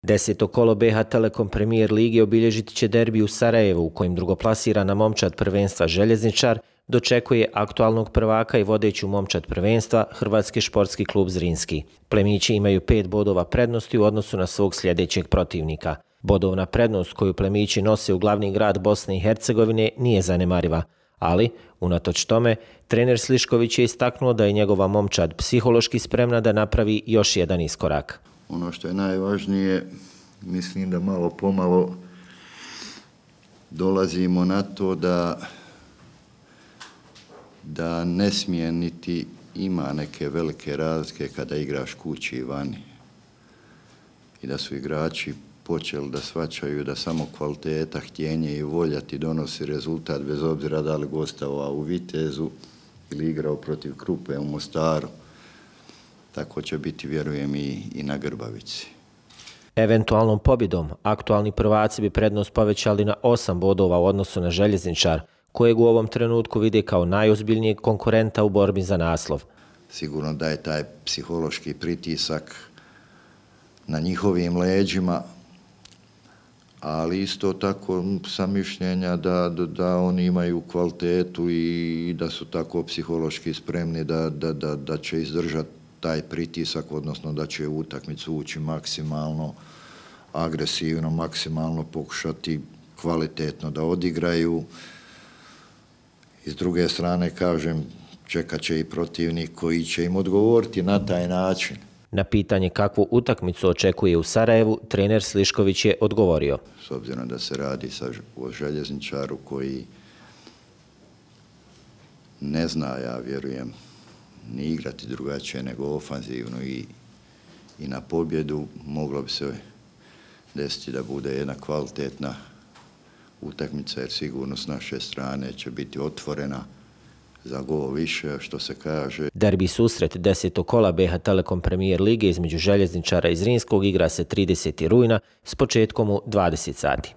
10. kolo BiH Telekom Premier Lige obilježit će derbi u Sarajevu, u kojem drugoplasirana momčad prvenstva Željezničar dočekuje aktualnog prvaka i vodeću momčad prvenstva Hrvatski športski klub Zrinski. Plemići imaju 5 bodova prednosti u odnosu na svog sljedećeg protivnika. Bodovna prednost koju plemići nose u glavni grad Bosne i Hercegovine nije zanemariva, ali, unatoč tome, trener Slišković je istaknuo da je njegova momčad psihološki spremna da napravi još jedan iskorak. Ono što je najvažnije, mislim da malo pomalo dolazimo na to da ne smije niti ima neke velike razlike kada igraš kući i vani. I da su igrači počeli da shvaćaju da samo kvaliteta, htjenje i volja ti donosi rezultat bez obzira da li gostovao u Vitezu ili igrao protiv Krupe u Mostaru. Tako će biti, vjerujem, i na Grbavici. Eventualnom pobjedom aktualni prvaci bi prednost povećali na 8 bodova u odnosu na Željezničar, kojeg u ovom trenutku vide kao najozbiljnijeg konkurenta u borbi za naslov. Sigurno da je taj psihološki pritisak na njihovim leđima, ali isto tako sam mišljenja da oni imaju kvalitetu i da su tako psihološki spremni da će izdržati taj pritisak, odnosno da će u utakmicu ući maksimalno agresivno, maksimalno pokušati kvalitetno da odigraju. I s druge strane, kažem, čekat će i protivnik koji će im odgovoriti na taj način. Na pitanje kakvu utakmicu očekuje u Sarajevu, trener Slišković je odgovorio. S obzirom da se radi o Željezničaru koji ne zna, ja vjerujem, ni igrati drugačije nego ofanzivno i na pobjedu, moglo bi se desiti da bude jedna kvalitetna utakmica, jer sigurno s naše strane će biti otvorena za gol više, što se kaže. Derbi susret 10. kola BiH Telekom Premier Lige između Željezničara i Zrinskog igra se 30. rujna s početkom u 20 sati.